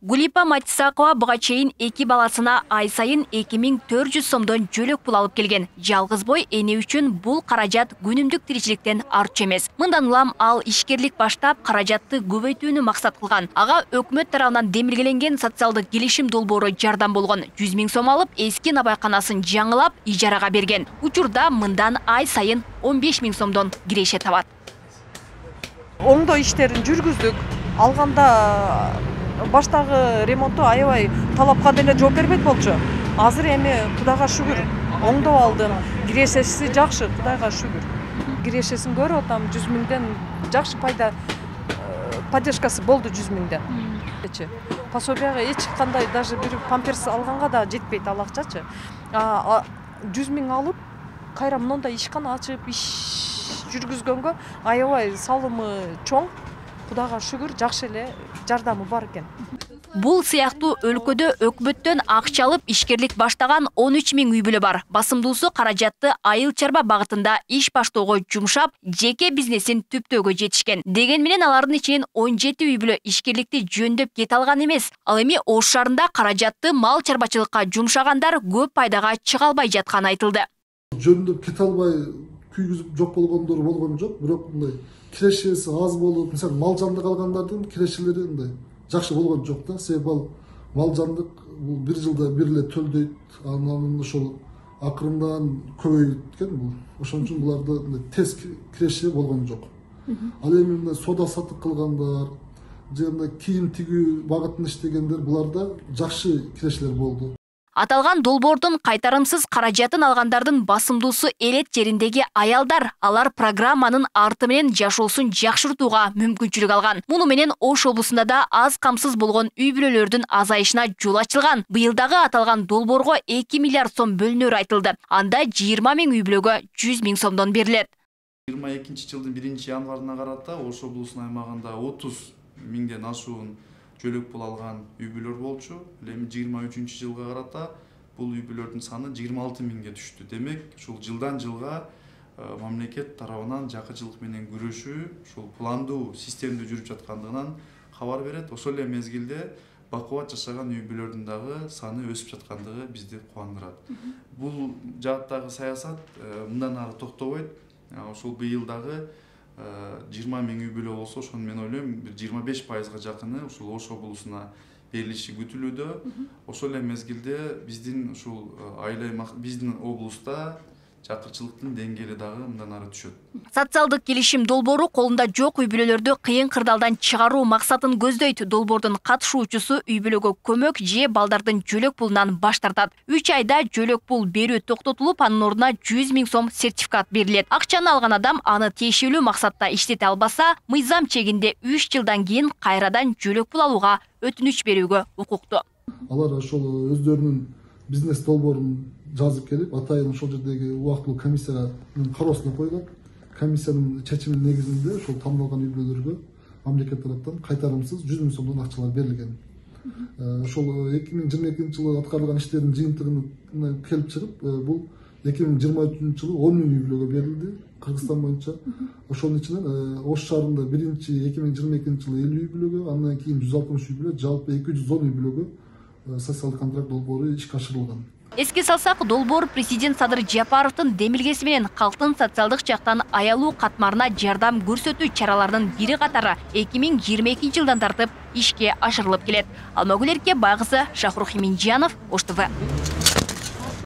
Гулипа Матисакова буга чейин 2 баласына ай сайын 2400 сомдон жөлөк пул алып келген. Жалгыз бой эне үчүн бул каражат күнүмдүк тиричиликтен артчу эмес. Мындан улам ал ишкерлик баштап каражатты көбөйтүүнү максат кылган. Ага өкмөт тарабынан демилгеленген социалдык келишим долбоору жардам болгон. 100 000 сом алып, эски набайканасын жаңылап, ижарага берген. Учурда мындан ай сайын 15 000 сомдон киреше табат. Оңдоо иштерин жүргүздүк. Алганда баштагы ремонтту аябай талапка деле жооп бербейт болчу. Азыр эми Кудайга шүгүр оңдоп алдым. Кирешеси жакшы, Кудайга шүгүр. Кирешесин көрүп атам, 100 000ден жакшы поддержкасы болду 100 000ден. Пособияга эч кандай даже бир памперс алганга да жетпейт ал акчачы. 100 000 алып, кайра мындай ишкана ачып, иш жүргүзгөнгө аябай салымы чоң. Кудайга шүгүр, жакшы эле жардамы бар экен. Бул сыяктуу өлкөдө өкмөттөн акча алып ишкерлик баштаган 13 000 үй бүлө бар. Басымдуусу каражатты айыл чарба багытында иш баштоого жумшап, жеке бизнесин түптөөгө жетишкен. Деген менен алардын ичинен 17 үй бүлө ишкерликти жөндөп кете алган эмес. Ал эми Ош шаарында каражатты мал чарбачылыкка жумшагандар көп пайдага чыга албай жатканы айтылды. Жөндөп кете албай күйгүзүп жок болгондор болгон жок, бирок мындай кирешеси аз болуп, мисалы мал жандык алгандардын кирешелери мындай жакшы болгон жок да. Себеби ал мал жандык бул бир жылда бир эле төлдөйт, анан ошол акырындан көбөйөт экен бул. Ошон үчүн буларда тез киреше болгон жок. Ал эми мындай соода сатык кылгандар, же мындай кийим тигүү багытында иштегендер буларда жакшы кирешелер болду. Аталган долбоордун кайтарымсыз каражатын алгандардын басымдуусу элет жериндеги аялдар. Алар программанын арты менен жашоосун жакшыртууга мүмкүнчүлүк алган. Муну менен Ош облусунда да аз камсыз болгон үй бүлөлөрдүн азайышына жол ачылган. Быйылдагы аталган долбоорго 2 миллиард сом бөлүнөрү айтылды. Анда 20 000 үй бүлөгө 100 000 сомдон берилет. 22-жылдын 1-январына карата Ош облусунун аймагында 30 000ден ашуун жөлөк пул алган үй бүлөлөр болчу. Эми 23-жылга карата бул үй бүлөлөрдүн саны 26 000ге түштү. Демек, ушул жылдан жылга мамлекет тарабынан жакычылык менен күрөшүү ушул пландуу системде жүрүп жаткандыгынан кабар берет. Ошол эле мезгилде бакубат жашаган үй бүлөлөрдүн дагы саны өсүп жаткандыгы бизди кубандырат. Бул жааттагы саясат мындан ары токтобойт. Ошол быйыл дагы 20 000 үй бүлө болсо, ошону мен ойлойм, 25%га жакыны ушул Ош облусуна берилиши күтүлүүдө. Ошол эле мезгилде биздин ушул биздин облуста жакырчылыктын деңгээли дагы мындан ары түшөт. Социалдык келишим долбоору колунда жок үй бүлөлөрдү кыйын кырдаалдан чыгаруу максатын көздөйт. Долбоордун катышуучусу үй бүлөгө көмөк же балдардын жөлөк пулунан баш тартат. 3 айда жөлөк пул берүү токтотулуп, анын ордуна 100 000 сом сертификат берилет. Акчаны алган адам аны тиешелүү максатта иштете албаса, мыйзам чегинде 3 жылдан кийин кайрадан жөлөк пул алууга өтүнүч берүүгө укуктуу. Алар ошол өздөрүнүн бизнес долбоорун жазып келип, атайын ошол жердеги убактылуу комиссиянын кароосуна койгон. Комиссиянын чечиминин негизинде ошол тандалган үй бүлөлөргө мамлекет тараптан кайтарымсыз 100 000 сомдон акчалар берилген. Ошол 2022-жылы аткарылган иштердин жыйынтыгына келип чыгып, бул 2023-жылы 10 000 үй бүлөгө берилди Кыргызстан боюнча. Ошонун ичинен Ош шаарында 2022-жылы 50 үй бүлөгө, андан кийин 160 үй бүлө, жалпы 210 үй бүлөгө социалдык контракт долбоору ишке ашырылган. Эске салсак, долбоор президент Садыр Жапаровдун демилгеси менен калктын социалдык жактан аялуу катмарына жардам көрсөтүү чараларынын бири катары 2022-жылдан тартып ишке ашырылып келет. Алмагүл Эрке, Байгызы, Шахрух Минжанов, Ош ТВ.